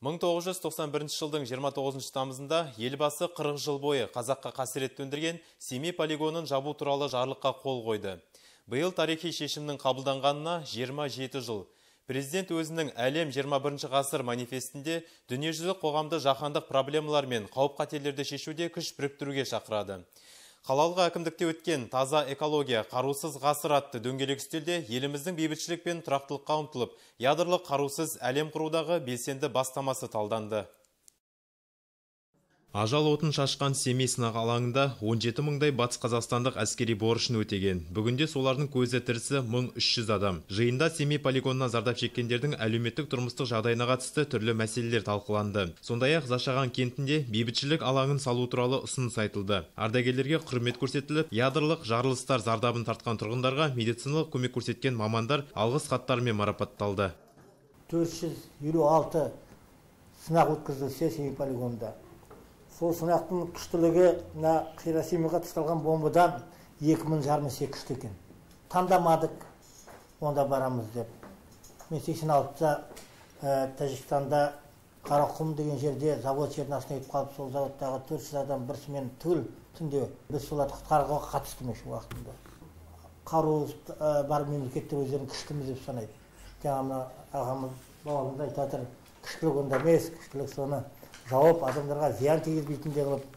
1991 жылдың 29 тамызында елбасы 40 жыл бойы қазаққа қасірет төндірген Семей полигонын жабу туралы жарлыққа қол қойды. Биыл тарихи шешімнің қабылданғанына 27 жыл. Президент өзінің әлем 21 ғасыр манифестінде дүниежүзілік қоғамды жаһандық проблемалар мен қауіп-қатерлерді шешуде күш біріктіруге шақырады. Қалалық әкімдікте өткен таза экология, қарусыз ғасыр атты дөңгелек үстелде еліміздің бейбітшілік пен тұрақтылыққа ұмтылып, ядролық қарусыз әлем құрудағы белсенді бастамасы талданды. Ажал отын шашқан Семей сынақ алаңында 17 мыңдай батыс қазақстандық әскери борышын өтеген. Бүгінде солардың көзі тірісі 1300 адам. Жиында Семей полигонына зардап шеккендердің әлеуметтік тұрмыстық жағдайына қатысты түрлі мәселелер талқыланды. Сондай-ақ Зашаған кентінде бейбітшілік алаңын салу туралы ұсыныс айтылды. Ардагерлерге құрмет көрсетіліп, ядролық жарылыстар зардабын тартқан тұрғындарға медициналық көмек көрсеткен мамандар алғыс хаттарымен марапатталды. 456 сынақ өткізілсе Семей полигонында. Сол сынақтың күштілігі Хиросимаға тасталған бомбадан 2000 жарымесе күшті екен. Таңдамадық, онда барамыз деп. Мен 86-та Тәжікстанда Қарақұм деген жерде завод жерін астына кетіп қалып, сол заводтағы 400 адам бірсімен түгіл түнде біз соларды құтқаруға қатыстым еш уақытында. Қару бар мемлекеттер өздерін күштіміз деп санайды. Жаңа ағамыз бабамыз айтып жатыр, күштілік онда емес, күштілік соны жауап адамдарға зиян тигізбейтіндей қылып